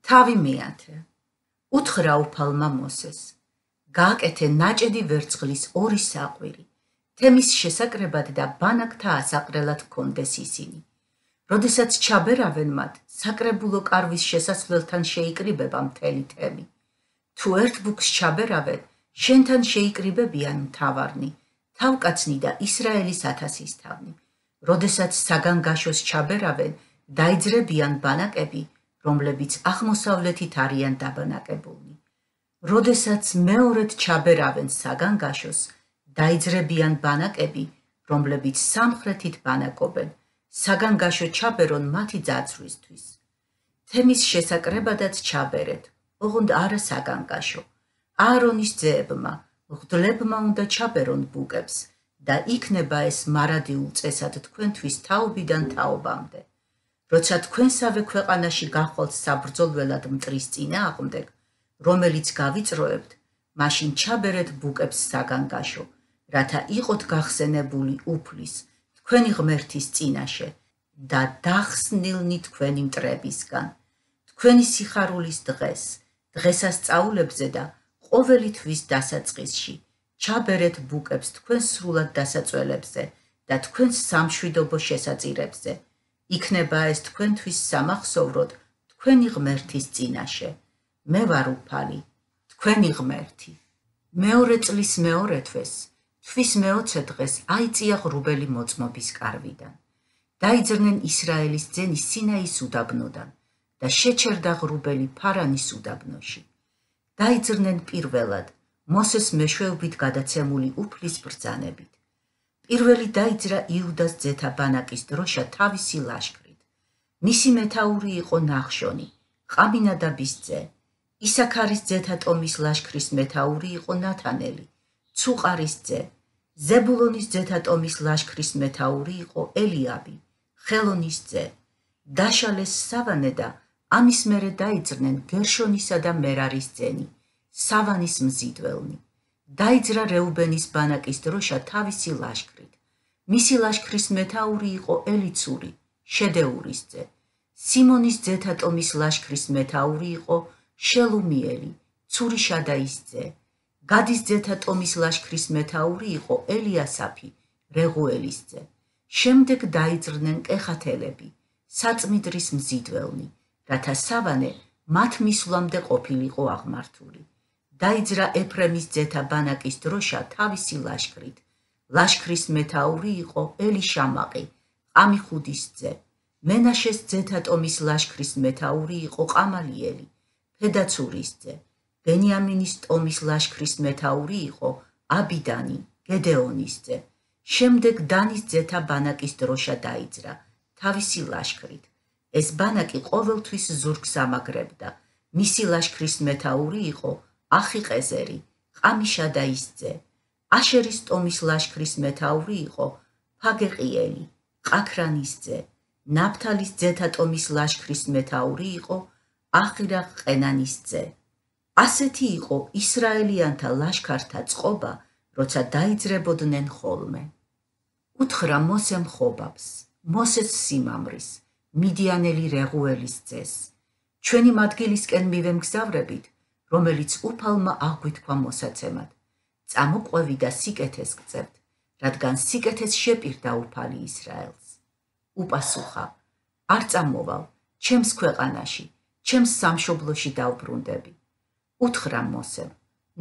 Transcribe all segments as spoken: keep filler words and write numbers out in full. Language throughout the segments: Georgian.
თავი მეათე. უთხრა უფალმა მოსეს. გააკეთე ნაჭედი ვერცხლის ორი საყვირი, თემის შესაკრებად და ბანაკთა ასაყრელად ჰქონდეს ისინი. როდესაც ჩაბერავენ მათ, საკრებულო კარვის შესასვლელთან შეიკრიბება მთელი თემი. თუ ერთ ბუქს ჩაბერავენ, შენთან შეიკრიბებიან მთავარნი, თავკაცნი და ისრაელის ათასის თავნი. როდესაც საგანგაშოს ჩაბერავენ, დაიძრებიან ბანაკები, რომლებიც აღმოსავლეთით არიან დაბანაკებულნი. როდესაც მეორედ ჩაბერავენ საგანგაშოს, დაიძრებიან ბანაკები, რომლებიც სამხრეთით ბანაკობენ, საგანგაშო ჩაბერონ მათი ძაცვრისთვის. თემის შესაკრებადაც ჩაბერეთ, ოღონდ არა საგანგაშო. აარონის ძეებმა, მღვდლებმა უნდა ჩაბერონ ბუკებს და იქნება ეს მარადიულ წესად თქვენთვის თაობიდან თაობამდე. როცა თქვენსავე ქვეყანაში გახვალთ საბრძოლველად მტრის წინააღმდეგ, რომელიც გავიწროებთ, მაშინ ჩაბერეთ ბუკებს საგანგაშო, რათა იყოთ გახსენებული უფლის, თქვენი ღმერთის წინაშე და დახსნილნი თქვენი მტრებისგან. თქვენი სიხარულის დღეს, დღესასწაულებზე და ყოველი თვის დასაწყისში, ჩაბერეთ ბუკებს თქვენ სრულად დასაწველებზე და თქვენს სამშვიდობო შესაწირებზე. იქნება ეს თქვენთვის სამახსოვროდ თქვენი ღმერთის წინაშე. მე ვარ უფალი, თქვენი ღმერთი. მეორე წლის მეორე თვეს, თვის მეოცე დღეს აიწია ღრუბელი მოწმობის კარვიდან. დაიძრნენ ისრაელის ძენი სინაის უდაბნოდან და შეჩერდა ღრუბელი ფარანის უდაბნოში. დაიძრნენ პირველად, მოსეს მეშვეობით გადაცემული უფლის ბრძანებით. პირველი დაიძრა იუდას ძეთა ბანაკის დროშა თავისი ლაშქრით. მისი მეთაური იყო ნახშონი, ყამინადაბის ძე. ისაქარის ძეთა ტომის ლაშქრის მეთაური იყო ნათანელი, ცუყარის ძე. ზებულონის ძეთა ტომის ლაშქრის მეთაური იყო ელიაბი, ხელონის ძე. დაშალეს სავანე და ამის მერე დაიძრნენ გერშონისა და მერარის ძენი, სავანის მზიდველნი. დაიძრა რეუბენის ბანაკის დროშა თავისი ლაშქრით. მისი ლაშქრის მეთაური იყო ელიცური, შედეურის ძე. სიმონის ძეთა ტომის ლაშქრის მეთაური იყო შელუმიელი, ცურიშადაის ძე. გადის ძეთა ტომის ლაშქრის მეთაური იყო ელიასაფი, რეღუელის ძე. შემდეგ დაიძრნენ კეხათელები, საწმიდრის მზიდველნი, რათა სავანე მათ მისვლამდე ყოფილიყო აღმართული. დაიძრა ეფრემის ძეთა ბანაკის დროშა თავისი ლაშქრით. ლაშქრის მეთაური იყო ელიშამაყი, ყამიხუდის ძე. მენაშეს ძეთა ტომის ლაშქრის მეთაური იყო ყამალიელი, ფედაცურის ძე. ბენიამინის ტომის ლაშქრის მეთაური იყო აბიდანი, გედეონის ძე. შემდეგ დანის ძეთა ბანაკის დროშა დაიძრა თავისი ლაშქრით. ეს ბანაკი ყოველთვის ზურგს ამაგრებდა. მისი ლაშქრის მეთაური იყო ახიყეზერი, ყამიშადაის ძე. აშერის ტომის ლაშქრის მეთაური იყო ფაგეყიელი, ყაქრანის ძე. ნაფთალის ძეთა ტომის ლაშქრის მეთაური იყო ახირა ყენანის ძე. ასეთი იყო ისრაელიანთა ლაშქართა წყობა, როცა დაიძრებოდნენ ხოლმე. უთხრა მოსემ ხობაბს, მოსეს სიმამრის, მიდიანელი რეღუელის ძეს. ჩვენი მადგილისკენ მივემგზავრებით, რომელიც უფალმა აღგვითქვა მოსაცემად. წამოყვევი და სიკეთეს გწევთ, რადგან სიკეთეს შეპირდა უფალი ისრაელს. უპასუხა, არ წამოვალ, ჩემს ქვეყანაში, ჩემს სამშობლოში დავბრუნდები. უთხრა მოსემ,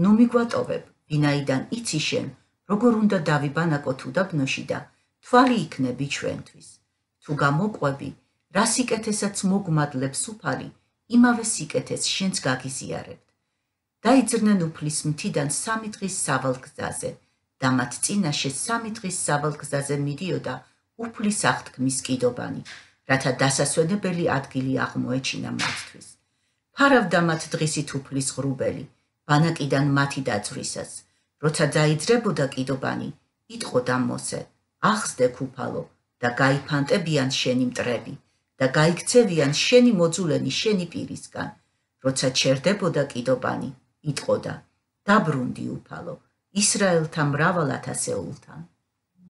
ნუ მიგვატოვებ, ვინაიდან იცი შენ, როგორ უნდა დავიბანაკოთ უდაბნოში და თვალი იქნები ჩვენთვის. თუ გამოყვები, რა სიკეთესაც მოგმადლებს უფალი, იმავე სიკეთეს შენც გაგიზიარებთ. დაიძრნენ უფლის მთიდან სამი დღის სავალგზაზე და მათ წინაშე სამი დღის სავალგზაზე მიდიოდა უფლის აღთქმის კიდობანი, რათა დასასვენებელი ადგილი აღმოეჩინა მათთვის. ფარავდა მათ დღისით უფლის ღრუბელი, ბანაკიდან მათი დაძვრისას. როცა დაიძრებოდა კიდობანი, იტყოდა მოსე, ახსდე უფალო და გაიფანტებიან შენი მტრები და გაიქცევიან შენი მოძულენი შენი პირისგან. როცა ჩერდებოდა კიდობანი, იტყოდა, დაბრუნდი უფალო, ისრაელთა მრავალ ათასეულთან.